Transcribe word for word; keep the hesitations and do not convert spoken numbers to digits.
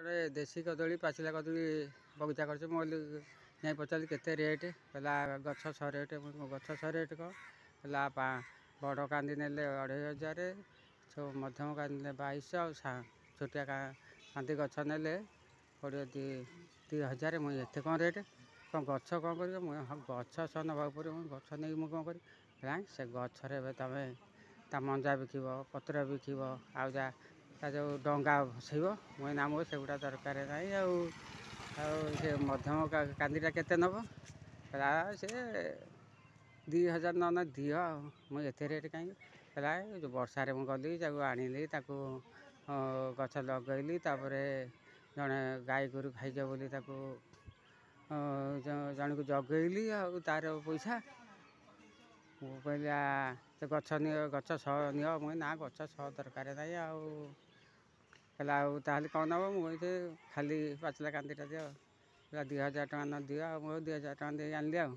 ଗୋଟେ ଦେଶୀ କଦଳୀ, ପାଚିଲା କଦଳୀ ବଗିଚା କରିଛି। ମୁଁ କହିଲି, ଯାଇ ପଚାରିଲି କେତେ ରେଟ୍? କହିଲା ଗଛ ଶହେ ରେଟ୍। ଗଛ ଶହେ ରେଟ୍ କ'ଣ? କହିଲା ବଡ଼ କାନ୍ଦି ନେଲେ ଅଢ଼େଇ ହଜାର, ମଧ୍ୟମ କାନ୍ଦି ନେଲେ ବାଇଶହ, ଆଉ ଛୋଟିଆ କାନ୍ଦି ଗଛ ନେଲେ ପଡ଼ିବ ଦୁଇ ଦୁଇ ହଜାର। ମୁଁ ଏତେ କ'ଣ ରେଟ୍? କ'ଣ ଗଛ କ'ଣ କରିବ? ମୁଁ ଗଛ ସହ ନେବାକୁ ପଡ଼ିବ। ମୁଁ ଗଛ ନେଇକି ମୁଁ କ'ଣ କରିବି? ନାଇଁ, ସେ ଗଛରେ ଏବେ ତୁମେ ତା ମଞ୍ଜା ବିକିବ, ପତ୍ର ବିକିବ, ଆଉ ଯାହା ତା ଯେଉଁ ଡଙ୍ଗା ଭସେଇବ। ମୁଁ ନା, ମୋର ସେଗୁଡ଼ା ଦରକାର ନାହିଁ। ଆଉ ଆଉ ସେ ମଧ୍ୟମ କାନ୍ଦିଟା କେତେ ନେବ? କହିଲା ସେ ଦୁଇ ହଜାର ନ ଦିଅ। ଆଉ ମୁଁ ଏତେ ରେଟ୍ କାହିଁକି? କହିଲା ଯେଉଁ ବର୍ଷାରେ ମୁଁ ଗଲି, ତାକୁ ଆଣିଲି, ତାକୁ ଗଛ ଲଗାଇଲି, ତାପରେ ଜଣେ ଗାଈ ଗୋରୁ ଖାଇଯିବ ବୋଲି ତାକୁ ଜଣକୁ ଜଗେଇଲି, ଆଉ ତା'ର ପଇସା। ମୁଁ କହିଲି ସେ ଗଛ ନିଅ, ଗଛ ଶହ ନିଅ। ମୁଁ ନା, ଗଛ ଶହ ଦରକାର ନାହିଁ। ଆଉ କହିଲା ଆଉ ତାହେଲେ କ'ଣ ନେବ? ମୁଁ କହିଲି ଖାଲି ପାଚିଲା କାନ୍ଦିଟା ଦିଅ। କହିଲା ଦୁଇ ହଜାର ଟଙ୍କା ନ ଦିଅ। ଆଉ ମୁଁ ଦୁଇ ହଜାର ଟଙ୍କା ଦେଇ ଆଣିଲି। ଆଉ